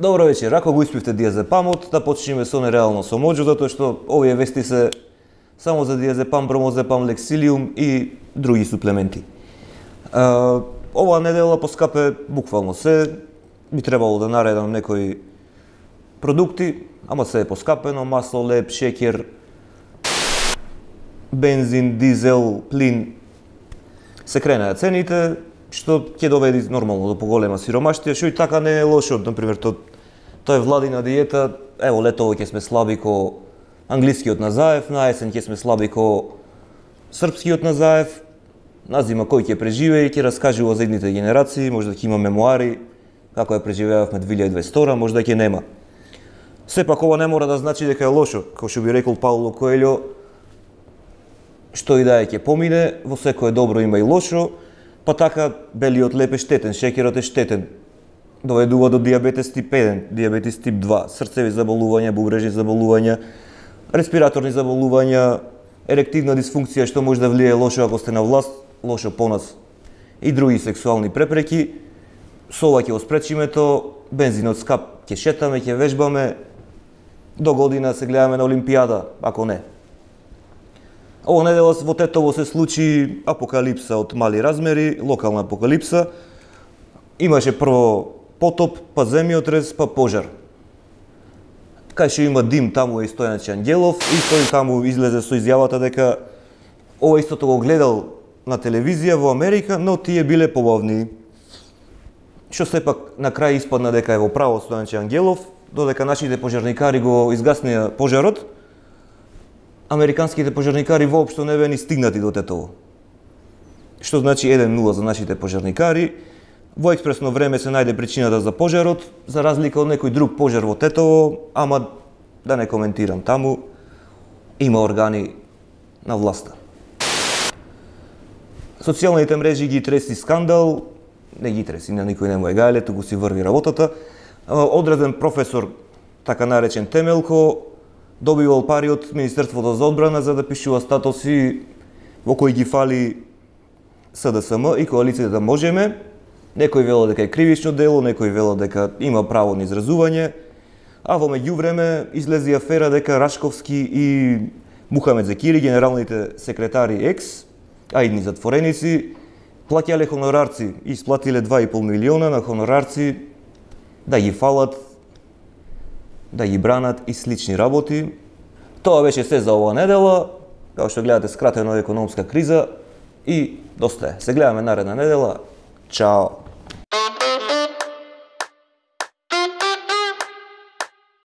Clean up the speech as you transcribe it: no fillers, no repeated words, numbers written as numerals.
Добро вечер, ако го испивте диазепамот, да почнеме со нереално со моџо, затоа што овие вести се само за диазепам, бромозепам, лексилиум и други суплементи. Оваа недела поскапе буквално се, би требало да наредам некои продукти, ама се е поскапено, масло, леб, шеќер, бензин, дизел, плин. Се кренеа цените, што ќе доведе нормално до поголема сиромаштија, што и така не е лошо. Например, тоа е владина диета, ево летово ќе сме слаби ко англискиот назаев, на есен ќе сме слаби ко српскиот назаев, на зима кој ќе преживее и ќе раскажува за идните генерации, може да ќе има мемуари, како ја преживеавме 2022, може да ќе нема. Сепак ова не мора да значи дека е лошо, како што би рекол Пауло Коелјо, што и да е ќе помине, во секое добро има и лошо, па така белиот леб е штетен, шеќерот е штетен, доведува до диабетес тип 1, диабетес тип 2, срцеви заболувања, бубрежни заболувања, респираторни заболувања, ерективна дисфункција што може да влие лошо ако сте на власт, лошо по нас и други сексуални препреки. Со ова ќе го спречиме то, бензинот скап ќе шетаме, ќе вежбаме, до година се гледаме на Олимпијада, ако не. Ова недела во Тетово се случи апокалипса од мали размери, локална апокалипса. Имаше прво потоп, па земјотрес, па пожар. Кај што има дим, таму е и Стојанче Ангелов, и тој таму излезе со изјавата дека ова истото го гледал на телевизија во Америка, но тие биле побавни. Што сепак на крај испадна дека е во право Стојанче Ангелов, додека нашите пожарникари го изгаснија пожарот, американските пожарникари воопшто не беа ни стигнати до Тетово. Што значи 1-0 за нашите пожарникари. Во експресно време се најде причината за пожарот, за разлика од некој друг пожар во Тетово, ама да не коментирам таму, има органи на власта. Социјалните мрежи ги треси скандал, не ги треси, на никој не му е гајле, туку си врви работата. Одреден професор, така наречен Темелко, добивал пари од Министерството за одбрана за да пишува статуси во кои ги фали СДСМ и коалицијата Можеме. Некој вело дека е кривично дело, некој вело дека има право на изразување, а во меѓувреме излези афера дека Рашковски и Мухамед Зекири, генералните секретари екс, а идни затвореници, плаќале хонорарци, исплатиле 2,5 милиона на хонорарци да ги фалат, да ги бранат и слични работи. Тоа беше се за оваа недела. Како што гледате, скратено економска криза и доста е. Се гледаме наредна недела. Чао!